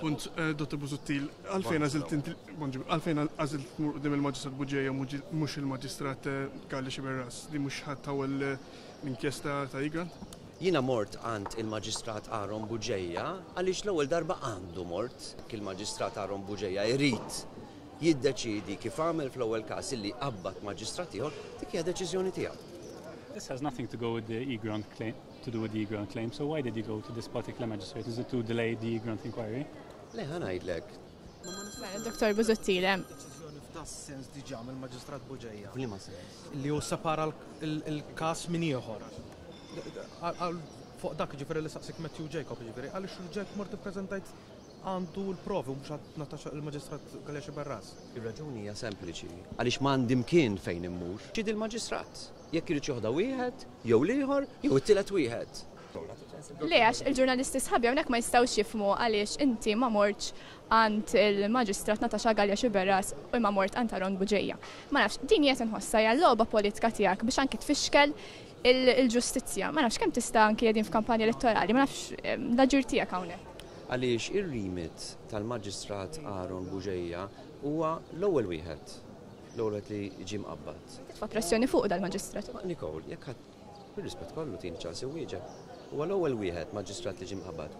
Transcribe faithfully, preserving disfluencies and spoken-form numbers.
Punt, eh, Dottor Busuttil, għalfejn għażilt inti, bonġu, għalfejn għażilt tmur quddiem il-Maġistrat Bugeja u mhux il-Maġistrat eh, Galea Sciberras, li mhux ħadd tawel eh, l-inkjesta ta' Egrant? Jiena mort għand il-Maġistrat Aaron Bugeja għaliex l-ewwel darba għandu mort. Il-Maġistrat Aaron Bugeja jrid jiddeċidi kif għamel fl-ewwel każ illi qabbad maġistrat ieħor, dik hija deċiżjoni tiegħu. This has nothing to go with the Egrant claim, to do with the Egrant claim. So why did you go to this particular magistrate? Is it to delay the Egrant inquiry? Le, ħa ngħidlek. Mela, Dottor Busuttil, hemm Deċiżjoni f'das-sens diġà mill-Maġistrat Bugeja. F'liema sens? Li hu separa l-każ minn ieħor. Għal fuq dak ġifieri li saqsik Matthew Jacob ġifieri, għaliex ġejt mort ippreżentajt għandu l-provi u mhux għand Natasha il-Maġistrat Galea Sciberras. Ir-raġuni hija sempliċi, għaliex m'għandi mkien fejn immur. Ċid il-maġistrat. Jekk irid joħda wieħed, jew l-ieħor, jew it-tielet wieħed. Le, għax il-ġurnalisti sħabi hawnhekk ma jistgħux jifhmu għaliex inti ma mortx għand il-Maġistrat Natasha Galea Sciberras u ma mort għand Aaron Bugeja. Ma nafx, din qed inħossha hija logħba politika tiegħek biex anki tfixkel il-ġustizzja. Ma nafx kemm tista' anki qegħdin f'kampanja elettorali, ma nafx l-aġir tiegħek hawnhekk. Għaliex ir-remit tal-Maġistrat Aaron Bugeja huwa l-ewwel wieħed. L-ewwel wieħed li ġie mqabbad. Titfa' pressjoni fuq dal-maġistrat. Ma Nicole, jekk ħadd bir-rispett kollu tini ċans wieġeb. Huwa l-ewwel wieħed maġistrat li ġie mqabbad.